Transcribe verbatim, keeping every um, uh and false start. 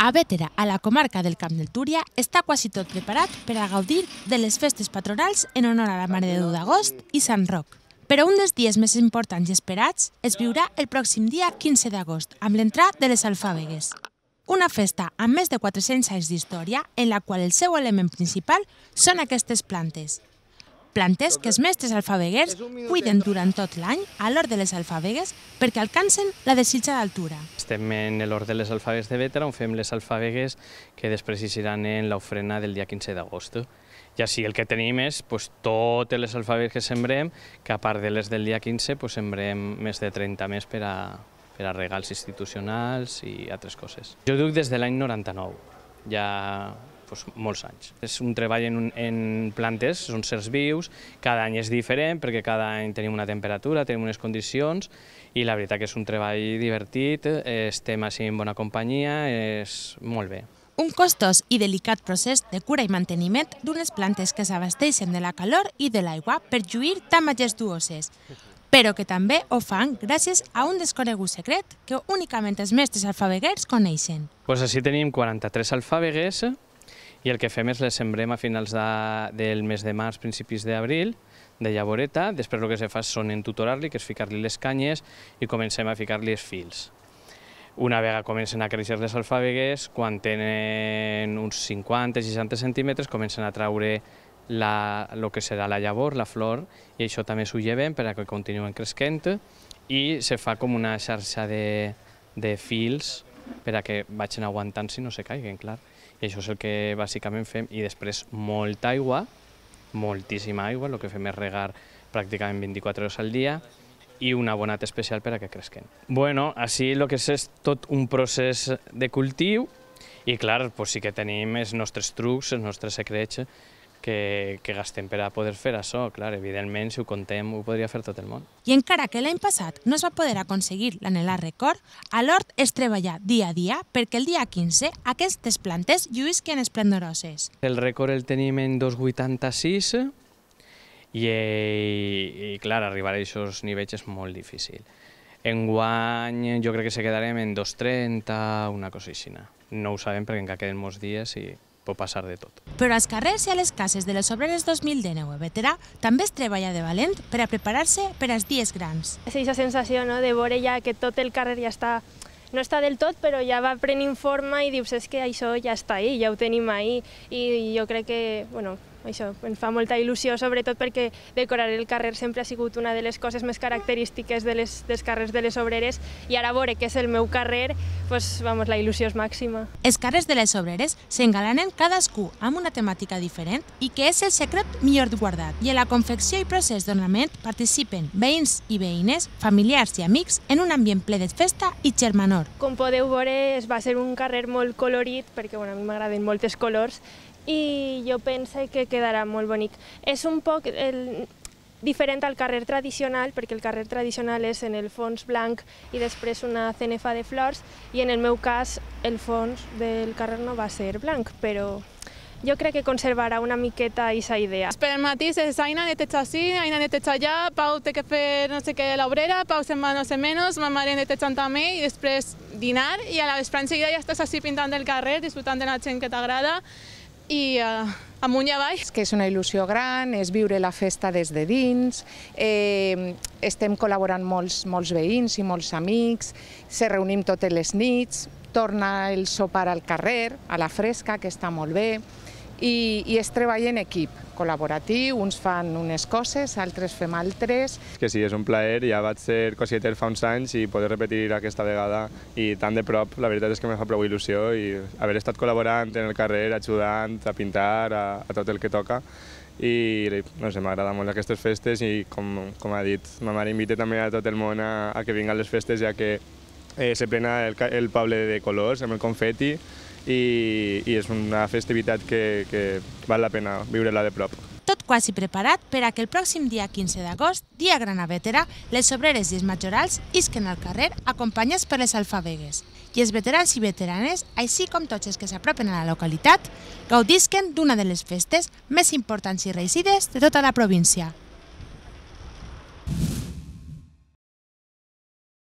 A Bétera, a la comarca del Camp del Túria, està quasi tot preparat per a gaudir de les festes patronals en honor a la Mare de Déu d'Agost i Sant Roc. Però un dels dies més importants i esperats es viurà el pròxim dia quinze d'agost, amb l'entrada de les alfàbegues. Una festa amb més de quatre-cents anys d'història en la qual el seu element principal són aquestes plantes. Plantes que els mestres alfàbeguers cuiden durant tot l'any a l'hort de les alfàbegues perquè alcancen la desitjada altura. Estem en l'hort de les alfàbegues de Bétera on fem les alfàbegues que després hi seran en l'ofrena del dia quinze d'agost. I així el que tenim és pues, totes les alfàbegues que sembrem, que a part de les del dia quinze pues, sembrem més de trenta més per a, per a regals institucionals i altres coses. Jo duc des de l'any noranta-nou, ja pues, molts anys. És un treball en, un, en plantes, són certs vius, cada any és diferent perquè cada any tenim una temperatura, tenim unes condicions i la veritat que és un treball divertit, estem així en bona companyia, és molt bé. Un costós i delicat procés de cura i manteniment d'unes plantes que s'abasteixen de la calor i de l'aigua per lluir tan majestuoses, però que també ho fan gràcies a un desconegut secret que únicament els mestres alfàbeguers coneixen. Pues així tenim quaranta-tres alfàbegues i el que fem és les sembrem a finals de, del mes de març, principis d'abril, de llavoreta. Després el que se fa són entutorar-li, que és ficar-li les canyes i comencem a ficar-li els fils. Una vegada comencen a créixer les alfàbegues, quan tenen uns cinquanta a seixanta centímetres, comencen a traure la, el que serà la llavor, la flor, i això també s'ho lleven per a que continuen creixent i se fa com una xarxa de, de fils per a que vagin aguantant si no se caiguen, clar. I això és el que bàsicament fem, i després molta aigua, moltíssima aigua, el que fem és regar pràcticament vint-i-quatre hores al dia, i un abonat especial per a que creixen. Bueno, així el que és, és tot un procés de cultiu i clar, pues sí que tenim els nostres trucs, els nostres secrets que, que gastem per a poder fer això. Clar, evidentment, si ho contem, ho podria fer tot el món. I encara que l'any passat no es va poder aconseguir l'anhelat rècord, a l'hort es treballa dia a dia perquè el dia quinze aquestes plantes lluïsquen esplendoroses. El rècord el tenim en dos coma vuitanta-sis, I, i, i clar, arribar a aquests nivells és molt difícil. Enguany jo crec que se quedarem en dos coma trenta, una cosa així. No ho sabem perquè encara queden molts dies i pot passar de tot. Però als carrers i a les cases de les obreres dos mil dinou a Bétera també es treballa de valent per a preparar-se per als dies grans. És aquesta sensació no, de veure ja que tot el carrer ja està, no està del tot, però ja va prenent forma i dius és que això ja està ahí, ja ho tenim ahí, i jo crec que, bueno, això ens fa molta il·lusió, sobretot perquè decorar el carrer sempre ha sigut una de les coses més característiques de les, dels carrers de les obreres, i ara veure que és el meu carrer, pues, vamos, la il·lusió és màxima. Els carrers de les obreres s'engalanen cadascú amb una temàtica diferent i que és el secret millor guardat. I en la confecció i procés d'ornament participen veïns i veïnes, familiars i amics en un ambient ple de festa i germanor. Com podeu veure, es va ser un carrer molt colorit, perquè bueno, a mi m'agraden molts colors, i jo penso que quedarà molt bonic. És un poc el, diferent al carrer tradicional, perquè el carrer tradicional és en el fons blanc i després una cenefa de flors, i en el meu cas el fons del carrer no va ser blanc, però jo crec que conservarà una miqueta aquesta idea. Per el matí és Aina neteja així, Aina neteja allà, Pau té que fer no sé què a l'obrera, Pau se'n va no sé menys, ma mare netejant també, i després dinar, i a la vesprà enseguida ja estàs així pintant el carrer, disfrutant de la gent que t'agrada, i uh, amunt i avall. És que és una il·lusió gran, és viure la festa des de dins, eh, estem col·laborant molts, molts veïns i molts amics, se reunim totes les nits, torna el sopar al carrer, a la fresca, que està molt bé, i, i es treballa en equip, col·laboratiu, uns fan unes coses, altres fem altres. Que sí, és un plaer, ja vaig ser cosieter fa uns anys i poder repetir aquesta vegada i tan de prop, la veritat és que me fa prou il·lusió i haver estat col·laborant en el carrer, ajudant a pintar, a, a tot el que toca, i no sé, m'agrada molt aquestes festes i com, com ha dit, ma mare invita també a tot el món a, a que vinguin les festes, ja que eh, se plena el, el poble de colors amb el confeti, i, i és una festivitat que, que val la pena viure-la de prop. Tot quasi preparat per a que el pròxim dia quinze d'agost, dia gran a Bétera, les obreres i els majorals isquen al carrer acompanyats per les alfàbegues. I els veterans i veteranes, així com tots els que s'apropen a la localitat, gaudisquen d'una de les festes més importants i reeixides de tota la província.